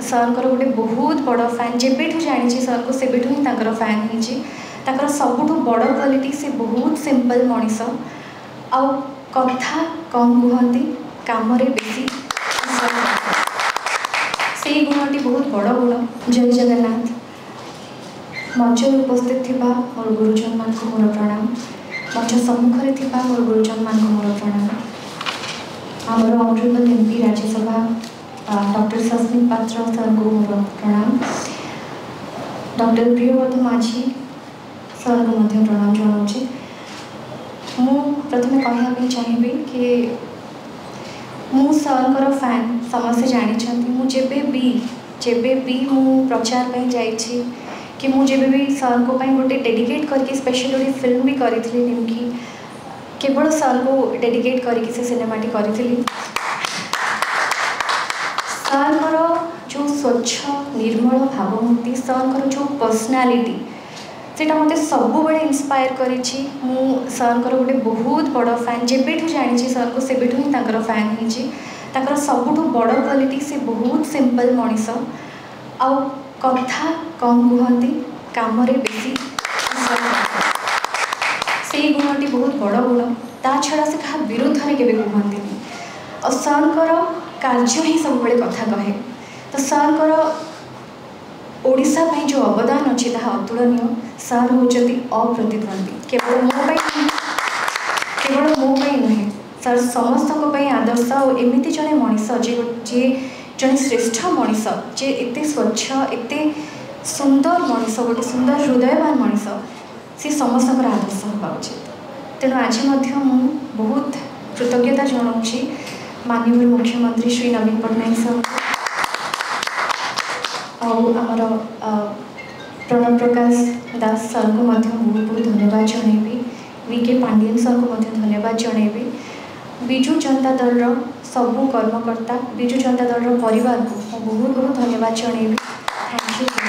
ସାର୍ଙ୍କର ଗୋଟେ ବହୁତ ବଡ଼ ଫ୍ୟାନ୍। ଯେବେଠୁ ଜାଣିଛି ସାର୍ଙ୍କୁ, ସେବେଠୁ ହିଁ ତାଙ୍କର ଫ୍ୟାନ୍ ହେଇଛି। ତାଙ୍କର ସବୁଠୁ ବଡ଼ କ୍ୱାଲିଟି, ସେ ବହୁତ ସିମ୍ପଲ୍ ମଣିଷ ଆଉ କଥା କମ୍ କୁହନ୍ତି, କାମରେ ବେଶୀ। ସେଇ ଗୁଣଟି ବହୁତ ବଡ଼ ଗୁଣ। ଜୟ ଜଗନ୍ନାଥ। ମଞ୍ଚରେ ଉପସ୍ଥିତ ଥିବା ମୋର ଗୁରୁଜନମାନଙ୍କୁ ମୋର ପ୍ରଣାମ। ମଞ୍ଚ ସମ୍ମୁଖରେ ଥିବା ମୋର ଗୁରୁଜନମାନଙ୍କୁ ମୋର ପ୍ରଣାମ। ଆମର honourable MP Rajya Sabha doctor Sasmit Patra ସାର୍ଙ୍କୁ ମୋର ପ୍ରଣାମ। ଡକ୍ଟର ପ୍ରିୟବ୍ରତ ମାଝୀ ସାର୍ଙ୍କୁ ମଧ୍ୟ ପ୍ରଣାମ ଜଣାଉଛି। ମୁଁ ପ୍ରଥମେ କହିବା ପାଇଁ ଚାହିଁବି କି ମୁଁ ସାର୍ଙ୍କର ଫ୍ୟାନ୍, ସମସ୍ତେ ଜାଣିଛନ୍ତି। ମୁଁ ଯେବେ ବି ମୁଁ ପ୍ରଚାର ପାଇଁ ଯାଇଛି କି ମୁଁ ଯେବେ ବି ସାର୍ଙ୍କ ପାଇଁ ଗୋଟେ ଡେଡିକେଟ୍ କରିକି ସ୍ପେଶାଲ୍ ଗୋଟେ ଫିଲ୍ମ ବି କରିଥିଲି, ନିମକି, କେବଳ ସାର୍ଙ୍କୁ ଡେଡିକେଟ୍ କରିକି ସେ ସିନେମାଟି କରିଥିଲି। ସାର୍ଙ୍କର ଯେଉଁ ସ୍ୱଚ୍ଛ ନିର୍ମଳ ଭାବମୂର୍ତ୍ତି, ସାର୍ଙ୍କର ଯେଉଁ ପର୍ସନାଲିଟି, ସେଇଟା ମୋତେ ସବୁବେଳେ ଇନ୍ସପାୟାର କରିଛି। ମୁଁ ସାର୍ଙ୍କର ଗୋଟେ ବହୁତ ବଡ଼ ଫ୍ୟାନ୍। ଯେବେଠୁ ଜାଣିଛି ସାର୍ଙ୍କୁ, ସେବେଠୁ ହିଁ ତାଙ୍କର ଫ୍ୟାନ୍ ହେଇଛି। ତାଙ୍କର ସବୁଠୁ ବଡ଼ କ୍ୱାଲିଟି, ସେ ବହୁତ ସିମ୍ପଲ୍ ମଣିଷ ଆଉ କଥା କମ୍ କୁହନ୍ତି, କାମରେ ବେଶୀ। ସେଇ ଗୁଣଟି ବହୁତ ବଡ଼ ଗୁଣ। ତା ଛଡ଼ା ସେ କାହା ବିରୁଦ୍ଧରେ କେବେ କୁହନ୍ତିନି ଆଉ ସାର୍ଙ୍କର କାର୍ଯ୍ୟ ହିଁ ସବୁବେଳେ କଥା କହେ। ତ ସାର୍ଙ୍କର ଓଡ଼ିଶା ପାଇଁ ଯେଉଁ ଅବଦାନ ଅଛି, ତାହା ଅତୁଳନୀୟ। ସାର୍ ହେଉଛନ୍ତି ଅପ୍ରତିଦ୍ୱନ୍ଦ୍ୱୀ। କେବଳ ମୋ ପାଇଁ ନୁହେଁ, ସାର୍ ସମସ୍ତଙ୍କ ପାଇଁ ଆଦର୍ଶ। ଆଉ ଏମିତି ଜଣେ ମଣିଷ ଯିଏ ଜଣେ ଶ୍ରେଷ୍ଠ ମଣିଷ, ଯିଏ ଏତେ ସ୍ୱଚ୍ଛ, ଏତେ ସୁନ୍ଦର ମଣିଷ, ଗୋଟେ ସୁନ୍ଦର ହୃଦୟବାନ ମଣିଷ, ସେ ସମସ୍ତଙ୍କର ଆଦର୍ଶ ହେବା ଉଚିତ। ତେଣୁ ଆଜି ମଧ୍ୟ ମୁଁ ବହୁତ କୃତଜ୍ଞତା ଜଣାଉଛି ମାନ୍ୟବର ମୁଖ୍ୟମନ୍ତ୍ରୀ ଶ୍ରୀ ନବୀନ ପଟ୍ଟନାୟକ ସାର୍ଙ୍କୁ ଆଉ ଆମର ପ୍ରଣବ ପ୍ରକାଶ ଦାସ ସାର୍ଙ୍କୁ ମଧ୍ୟ ବହୁତ ବହୁତ ଧନ୍ୟବାଦ ଜଣାଇବି। ଭି କେ ପାଣ୍ଡିଆନ ସାର୍ଙ୍କୁ ମଧ୍ୟ ଧନ୍ୟବାଦ ଜଣାଇବି। ବିଜୁ ଜନତା ଦଳର ସବୁ କର୍ମକର୍ତ୍ତା, ବିଜୁ ଜନତା ଦଳର ପରିବାରକୁ ମୁଁ ବହୁତ ବହୁତ ଧନ୍ୟବାଦ ଜଣାଇବି। Thank you.